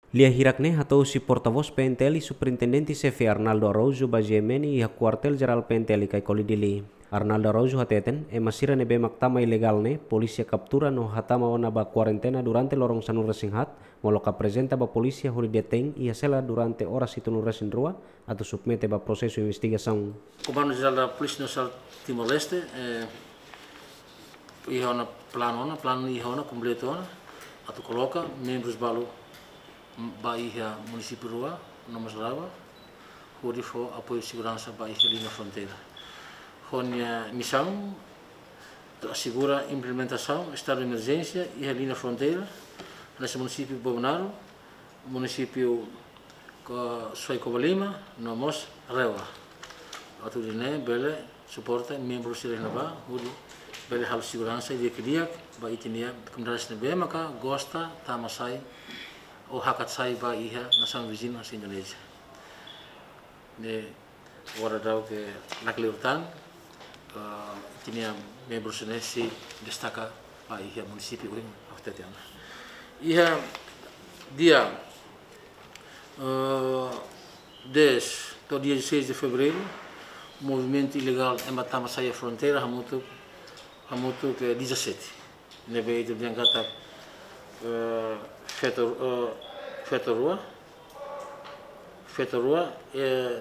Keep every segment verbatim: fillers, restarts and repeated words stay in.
Lia hirak ne'e hato'o husi portavós P N T L Superintendente Xefe Arnaldo Araújo ba G M N iha Kuartél Jerál P N T L Caicoli Dili. Arnaldo Araújo hateten, ema sira ne'ebé mak tama ilegál ne'e, polísia kaptura no hatama ona ba kuarentena durante loron sanulu-resin-haat, molok aprezenta ba polísia hodi detein iha sela durante oras hitunulu-resin-rua, atu submete ba prosesu investigasaun. Komandu Jerál da Polísia Nasionál Timor-Leste, eh, iha ona planu ona, planu iha ona kompletu ona, atu koloka membrus balu ba iha munisípiu rua, no mós RAEOA, hodi fó apoiu seguransa ba iha liña fronteira. Ho nia misaun atu asegura implementasaun estadu de emerjénsia iha liña fronteira, hanesan munisípiu Bobonaro, munisípiu Ko-, Suai Covalima, no mós RAEOA. Atu nune'e bele suporta membru sira iha ne'ebá, hodi bele halo seguransa di'ak-di'ak ba ita-nia komunidade sira ne'ebé maka gosta tama sai ou hakat sai ba iha nasaun viziñu hanesan Indonézia. Ne'e agora daudaun ke lakleur tan, eh, ita-nia membru sira ne'e sei destaka ba iha munisípiu oin aktetiana. Iha dia, eh, dez to'o dia dezasseis de fevereiro, movimentu ilegál ema tama sai iha fronteira hamutuk, hamutuk ke dezassete. Ne'ebé ita dehan katak, eh, feto, eh, feto rua, feto rua, eh,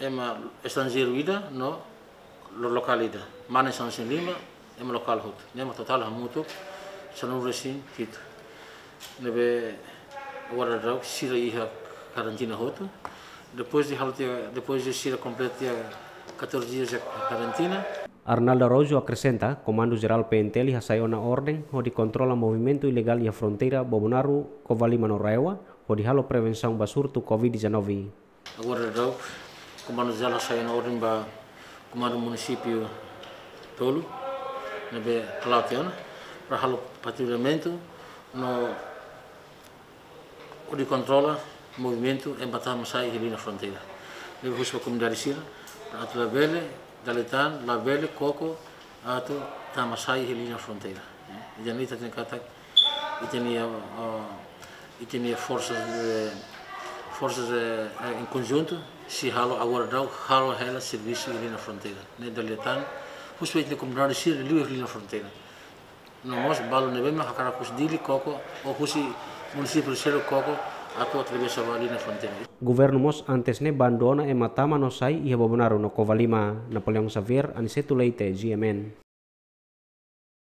ema estranjeiru ida no lo-, lokál ida. Mane sanulu-resin-lima, ema lokál hotu. Ne'e mak totál hamutuk sanulu-resin-hitu. Ne'ebé agora daudaun sira iha karantina hotu. Depois de halo tiha, depois de sira kompleta katorze dias iha karantina. Arnaldo Araújo akresenta, Komandu Jerál P N T L hasai ona orden hodi kontrola movimentu ilegál iha fronteira Bobonaro, Covalima no RAEOA, hodi halo prevensaun ba surtu covid dezanove. Agora daudaun, Komandu Jerál hasai ona orden ba komandu munisípiu tolu, ne'ebé hala'o tiha ona, para halo patrullamentu no hodi kontrola movimentu ema tama sai iha liña fronteira. Ne'ebé husu ba komunidade sira, para atu labele, dala ida tan, labele koko atu tama sai iha liña fronteira. Eh, ida-ne'e ita hatene katak, ita-nia, eh, ita-nia forsa de, forsa de, eh, em conjunto, sei halo agora daudaun, halo hela servisu iha liña fronteira. Ne'e dala ida tan, husu ba ita-nia komunidade sira liu iha liña fronteira. No mós balu ne'ebé mak hakarak husi Dili koko, ou husi munisípiu seluk koko, atu atravesa ba liña fronteira. Governu mós antes ne'e bandu ona ema tama no sai iha Bobonaro no Covalima. Napoleão Xavier, Aniceto Leite, G M N.